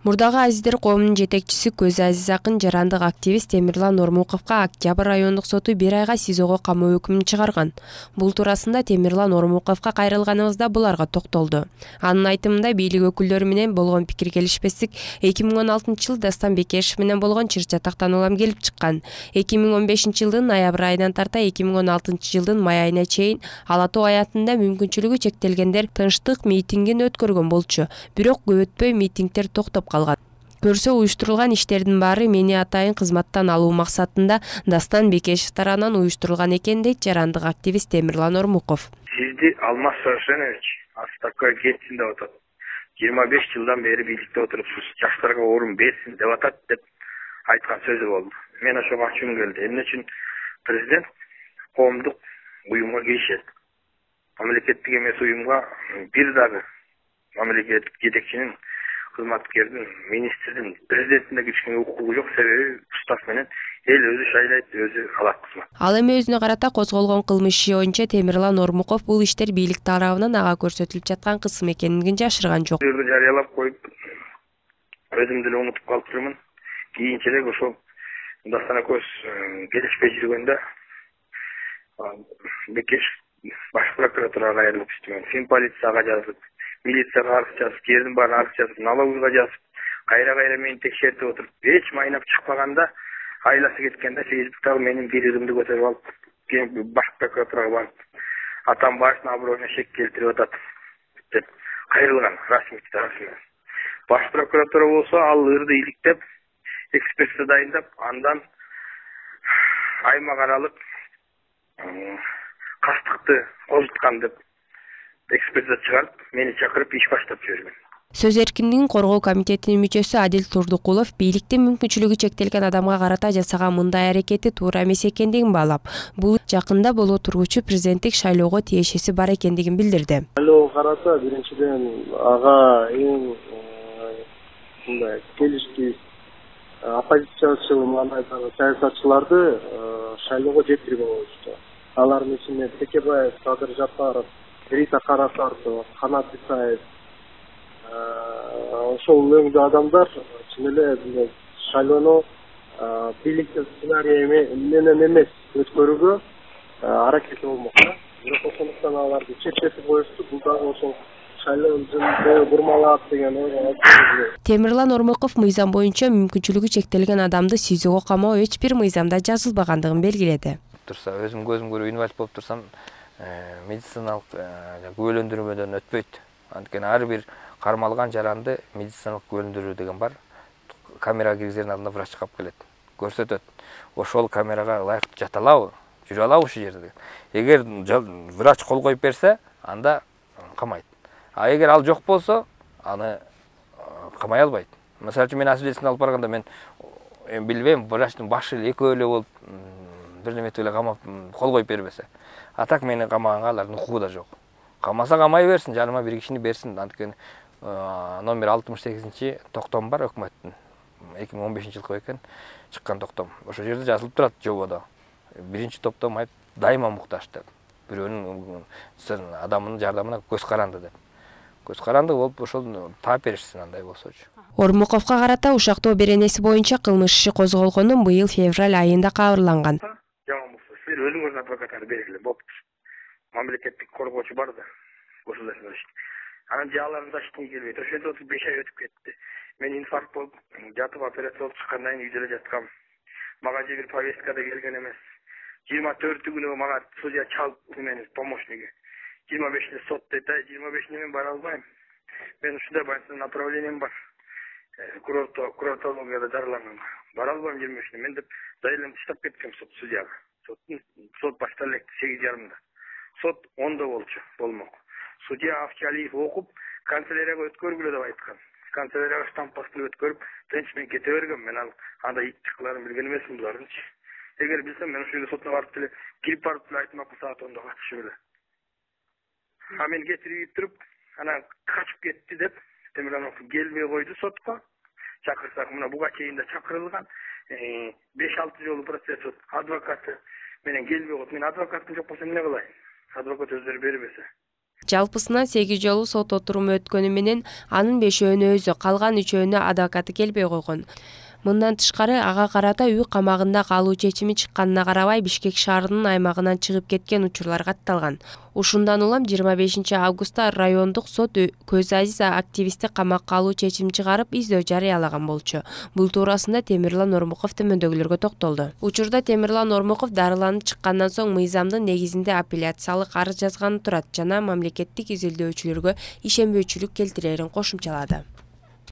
Мурдагы Азиздер коомунун жетекчиси Көз Азиз Акын жарандык активист Темирлан Ормуковго Октябрь райондук соту 1 айга СИЗОго камоо өкүмүн чыгарган. Бул туурасында Темирлан Ормуковго кайрылганыбызда буларга токтолду. Анын айтымында бийлик өкүлдөрү менен болгон пикир келишпестик 2016-жылы Дастан Бекешев менен болгон чыр-чатактан улам келип чыккан. 2015-жылдын ноябрь айынан тарта 2016-жылдын май айына чейин Ала Тоо аятында мүмкүнчүлүгү чектелгендер тынчтык митингин өткөргөн болчу. Бирок көп өтпөй митингдер токтоп калган. Көрсө уюштурулган иштердин баары мени атайын кызматтан алуу максатында Дастан Бекешев тарабынан уюштурулган экен дейт жарандык активист Темирлан Ормуков. Сизди Алмаз Совершенович Астакка кетсин деп атат. 25 жылдан бери бийликте отурупсуз. Жаштарга орун берсин деп атат деп айткан сөзү болду. Мен ошого ачуум келди. Эмне үчүн президент коомдук уюмга киришет? Мамлекеттик эмес уюмга бир дагы мамлекеттик жетекчинин, кызматкердин, министрдин, президенттин киришкенге укугу жок. Себеби устав менен эл өзү шайлайт, өзү алат кызмат. Ал эми өзүнө карата козголгон кылмыш иши боюнча Темирлан Ормуков бул иштер бийлик тарабынан ага көрсөтүлүп жаткан кысым экенин жарышырган жок. Жарыялап коюп, өзүм деле унутуп калыптырмын. Кийинчерээк ошол Дастан көз келишпей жүргөндө Бекешев баш прокуратурага кайрылып иштеген. Фин полицияга жазып, милицияга арыз жазып, жердин баарын арыз жазып, налоговга жазып, кайра мени текшертип отуруп, эч майнап чыкпаганда айласы кеткенде Фейсбуктагы менин бийлигимди көтөрүп алып, баш прокуратурага барып, атам башына аброюна шек келтирип атат деп кайрылган расмий. Баш прокуратура болсо ал ырды иликтеп, экспертиза дайындап, андан аймак аралык кастыкты козуткан деп экспертиза чыгарып, мени чакырып иш баштап жиберген. Сөз эркиндигин коргоо комитетинин мүчөсү Адил Турдукулов бийликтин мүмкүнчүлүгү чектелген адамга карата жасаган мындай аракети туура эмес экендигин баалап, бул жакында боло тургучу президенттик шайлоого тиешеси бар экендигин билдирди. Шайлоого карата биринчиден ага эң мындай келишти оппозициячыл мандайдагы саясатчыларды шайлоого жеткирген болчу. Алардын ичинде Текебаев, Садыр Жапаров, Рита Карасартова, Канат Исаев, ошол өңдүү адамдар чын эле шайлоону бийликтин сценарийи менен эмес өткөрүүгө аракети болмокчу. Бирок ошондуктан аларды четтетип коюшту. Бул дагы ошол шайлоо бурмалап деген ой. Темирлан Ормуков мыйзам боюнча мүмкүнчүлүгү чектелген адамды СИЗОго камоо эч бир мыйзамда жазылбагандыгын белгиледи. Өзүм көзүм көрүп инвалид болуп турсам, медициналык күбөлөндүрмөдөн өтпөйт. Анткени ар бир кармалган жаранды медициналык күбөлөндүрүү деген бар. Камерага киргизердин алдында врач чыгып келет, көрсөтөт. Ошол камерага ылайыктуу жата алабы, жүрө алабы ушул жерде. Эгер врач кол коюп берсе, анда камайт. А эгер ал жок болсо, аны камай албайт. Мисалы үчүн мен освидетельствование алып барганда мен билбейм, врачтын башы эле экөө эле болуп бир неметип эле камап кол коюп бербесе. А так мени камаганга алардын укугу да жок. Камаса камай берсин, жаныма бир кишини берсин. Анткени номер 68 токтом бар өкмөттүн. 2015-жылкы экен чыккан токтом. Ошол жерде жазылып турат жободо. Биринчи топтом айып дайыма муктаж деп. Бирөөнүн адамынын жардамына көз каранды деп. Көз каранды болуп ошол таап беришсин андай болсочу. Ормуковго карата ушактоо беренеси боюнча кылмыш иши козголгонун быйыл февраль айында кабарланган. Жаман болсо силер өзүңөр адвокаттарды бергиле, болуптур. Мамлекеттик коргоочу бар да, государственный защитник. Анан жаларын защитник келбейт. Ошондо 5 ай өтүп кетти. Мен инфаркт болуп, жатып операция болуп чыккандан кийин үйдө эле жаткам. Мага же бир повестка да келген эмес. 24-күнү мага судья чалып мени помощниги. 25-inde сот дейт, 25-inde мен бара албайм. Мен ушундай больница направлением бар. Курортологияда дарыланган. Бара албайм 25-inde. Мен деп заявление таштап кеткем судьяга. Сот башталып элек 8:30-да. Сот 10-да болчу, болмок. Судья Авчалиев окуп, канцелярияга өткөргүлө деп айткан. Канцелярияга штампасын өткөрүп, тынч мен кете бергем. Мен анда итти кыларын билген эмесмин булардынчы. Эгер билсем, мен ошол сотко барып деле, кирип барып деле айтмакмын саат 10-да катышып эле. А мен кетирип туруп, анан качып кетти деп, Темирланов келбей койду сотко. Чакырсак, мына буга чейин да чакырылган. 5-6 жолу процесс адвокаты менен келбей койду. Мен адвокатым жок болсо эмне кылайын? Адвокат өздөрү бербесе. Жалпысынан 8 жолу сот отуруму өткөнү менен анын 5-өөнү өзү, калган 3-өөнү адвокаты келбей койгон. Мындан тышкары ага карата үй камагында калуу чечими чыкканына карабай Бишкек шаарынын аймагынан чыгып кеткен учурлар катталган. Ушундан улам 25 августта райондук сот Көз Азиз активистти камакка алуу чечим чыгарып, издөө жарыялаган болчу. Бул туурасында Темирлан Ормуков төмөндөгүлөргө токтолду. Учурда Темирлан Ормуков дарыланып чыккандан соң мыйзамдын негизинде апелляциялык арыз жазганы турат жана мамлекеттик изилдөөчүлөргө ишенбөөчүлүк келтирерин кошумчалады.